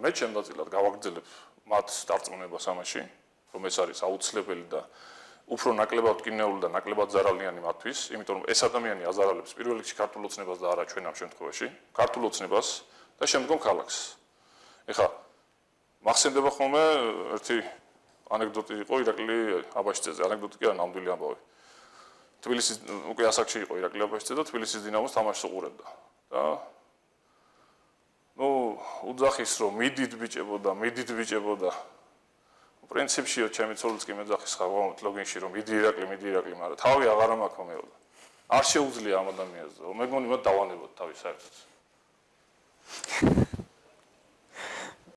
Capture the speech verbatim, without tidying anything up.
მე ჩემდაწილად გავაგრძელებ მათ დარწმუნებას ამაში, რომ ეს არის აუცილებელი და უფრო ნაკლებად ტკინეული და ნაკლებად ზარალიანი მათთვის, იმიტომ რომ ეს ადამიანი აზარალებს პირველ რიგში ქართულ ოცნებას და არა ჩვენ ამ შემთხვევაში, ქართულ ოცნებას და შემდგომ ქალაქს. ეხლა მახსენდება ხოლმე ერთი ანეკდოტი იყო ირაკლი აბაშიძეზე, ანეკდოტი კი არა, ნამდვილი ამბავი. თბილისის უკვე ასაკში იყო ირაკლი აბაშიძე და თბილისის დინამოს თამაშს უყურებდა. და ნუ უძახის რომ მიდით ბიჭებო და მიდით ბიჭებო და პრინციპშიო ჩემი ცოლიც კი მეძახის ხარ ლოგინში რომ მიდი ირაკლი მიდი ირაკლი, მაგრამ თავი აღარ მაქვს მეო. არ შეუძლია ამ ადამიანს. მე მგონი მათ დავანებოთ თავი საერთოდ.